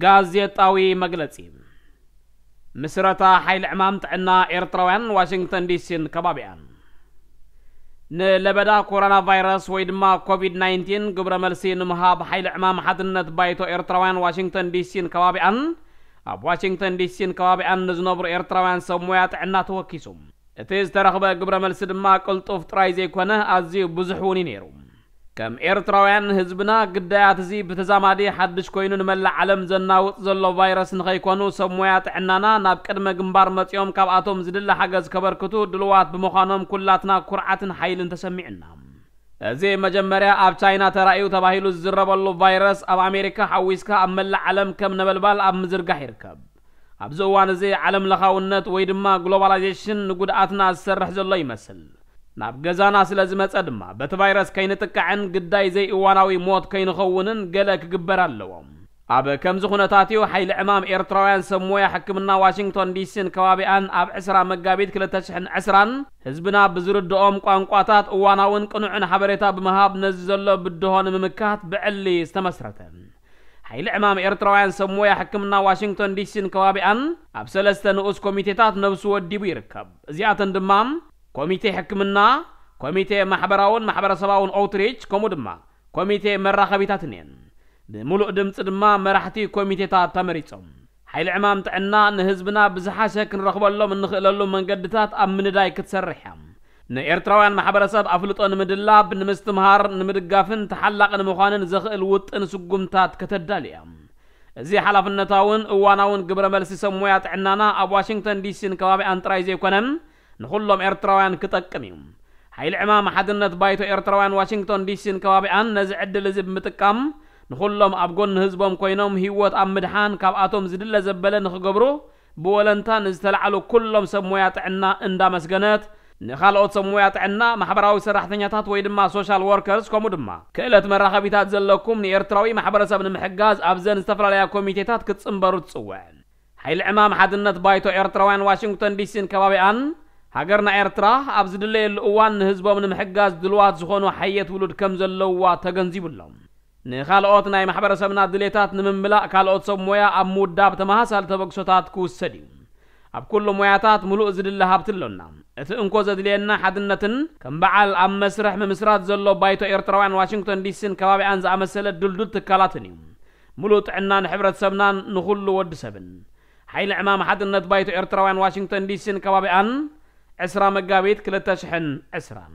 ጋዜጣዊ መግለጺ። ምስረታ ሓይሊ ዕማም ጥዕና ኤርትራውያን ዋሽንግተን ዲሲን ከባቢኣን። ንለበዳ ኮሮና ቫይረስ ወይ ድማ ኮቪድ ናይንቲን ግብረ መልሲ ንምሃብ ሓይሊ ዕማም ሓድነት ባይቶ ኤርትራውያን ዋሽንግተን ዲሲን ከባቢኣን ኣብ ዋሽንግተን ዲሲን ከባቢኣን ንዝነብሩ ኤርትራውያን ሰብ ሞያ ጥዕና ተወኪሱ። እቲ ዝተረኽበ ግብረ መልሲ ድማ ቅልጡፍ ጥራይ ዘይኮነ ኣዝዩ ብዙሕ እውን እዩ ነይሩ። ከም ኤርትራውያን ህዝብና ግዳያት እዚ ብተዛማዲ ሓድሽ ኮይኑ ንመላእ ዓለም ዘናውጥ ዘሎ ቫይረስ ንኸይኮኑ ሰብ ሞያ ጥዕናና ናብ ቅድመ ግንባር መጺኦም ካብኣቶም ዝድለ ሓገዝ ከበርክቱ ድልዋት ብምዃኖም ኩላትና ኩርዓትን ሓይልን ተሰሚዑና። እዚ መጀመርያ ኣብ ቻይና ተራእዩ ተባሂሉ ዝዝረበሉ ቫይረስ ኣብ ኣሜሪካ ሓዊስካ ኣብ መላእ ዓለም ከም ነበልባል ኣብ ምዝርጋሕ ይርከብ። ኣብዚ እዋን እዚ ዓለም ለኻውነት ወይ ድማ ግሎባላይዜሽን ንጉድኣትና ዝሰርሕ ዘሎ ይመስል። ናብ ገዛና ስለ ዝመጸ ድማ በቲ ቫይረስ ከይንጥቃዕን ግዳይ ዘይእዋናዊ ሞት ከይንኸውንን ገለ ክግበር ኣለዎ። ኣብ ከምዚ ኩነታት እዩ ሓይሊ ዕማም ኤርትራውያን ሰብ ሞያ ሕክምና ዋሽንግቶን ዲሲን ከባቢኣን ኣብ ዕስራ መጋቢት ክልተ ሽሕን ዕስራን ህዝብና ብዝርድኦም ቋንቋታት እዋናውን ቅኑዕን ሓበሬታ ብምሃብ ነዚ ዘሎ ብድሆ ንምምካት ብዕሊ ዝተመስረተ። ሓይሊ ዕማም ኤርትራውያን ሰብ ሞያ ሕክምና ዋሽንግቶን ዲሲን ከባቢኣን ኣብ ሰለስተ ንኡስ ኮሚቴታት ነብሱ ወዲቡ ይርከብ። እዚኣተን ድማ ኮሚቴ ሕክምና፣ ኮሚቴ ማሕበራውን ማሕበረሰባውን ኦውትሪች፣ ከምኡ ድማ ኮሚቴ መራኸቢታትን እየን። ብምሉእ ድምፂ ድማ መራሕቲ ኮሚቴታት ተመሪጾም። ሓይሊ ዕማም ጥዕና ንህዝብና ብዝሓሸ ክንረኽበሎም እንኽእለሉ መንገድታት ኣብ ምንዳይ ክትሰርሕ እያ። ንኤርትራውያን ማሕበረሰብ ኣፍልጦ ንምድላብ፣ ንምስትምሃር፣ ንምድጋፍን ተሓላቒ ንምዃንን ዘኽእል ውጥን ስጉምታት ከተዳሊ እያ። እዚ ሓላፍነታውን እዋናውን ግብረ መልሲ ሰብ ሞያ ጥዕናና ኣብ ዋሽንግተን ዲሲን ከባቢኣን ጥራይ ዘይኮነ ንኹሎም ኤርትራውያን ክጠቅም እዩ። ሓይሊ ዕማም ሓድነት ባይቶ ኤርትራውያን ዋሽንግቶን ዲሲን ከባቢኣን ነዚ ዕድል እዚ ብምጥቃም ንኹሎም ኣብ ጎኒ ህዝቦም ኮይኖም ህይወት ኣብ ምድሓን ካብኣቶም ዝድለ ዘበለ ንኽገብሩ ብወለንታ ንዝተላዕሉ ኩሎም ሰብ ሞያ ጥዕና እንዳመስገነት፣ ንኻልኦት ሰብ ሞያ ጥዕና፣ ማሕበራዊ ሰራሕተኛታት ወይ ድማ ሶሻል ወርከርስ፣ ከምኡ ድማ ክእለት መራኸቢታት ዘለኩም ንኤርትራዊ ማሕበረሰብ ንምሕጋዝ ኣብዘን ዝተፈላለያ ኮሚቴታት ክትጽንበሩ ትጽውዕ። ሓይሊ ዕማም ሓድነት ባይቶ ኤርትራውያን ዋሽንግቶን ዲሲን ከባቢኣን ሃገርና ኤርትራ ኣብ ዝድለየሉ እዋን ንህዝቦም ንምሕጋዝ ድልዋት ዝኾኑ ሓየት ውሉድ ከም ዘለውዋ ተገንዚቡ ኣሎ። ንኻልኦት ናይ ማሕበረሰብና ድሌታት ንምምላእ ካልኦት ሰብ ሞያ ኣብ ምውዳብ ተመሳሳሊ ተበግሶታት ክውሰድ እዩ። ኣብ ኩሉ ሞያታት ምሉእ ዝድለ ሃብቲ ኣሎና። እቲ እንኮ ዘድልየና ሓድነትን ከም በዓል ኣብ መስርሕ ምምስራት ዘሎ ባይቶ ኤርትራውያን ዋሽንግቶን ዲሲን ከባቢኣን ዝኣመሰለ ድልዱል ትካላትን እዩ። ምሉእ ጥዕና ንሕብረተሰብናን ንኹሉ ወዲ ሰብን። ሓይሊ ዕማም ሓድነት ባይቶ ኤርትራውያን ዋሽንግቶን ዲሲን ከባቢኣን ዕስራ መጋቢት ክልተ ሽሕን ዕስራን።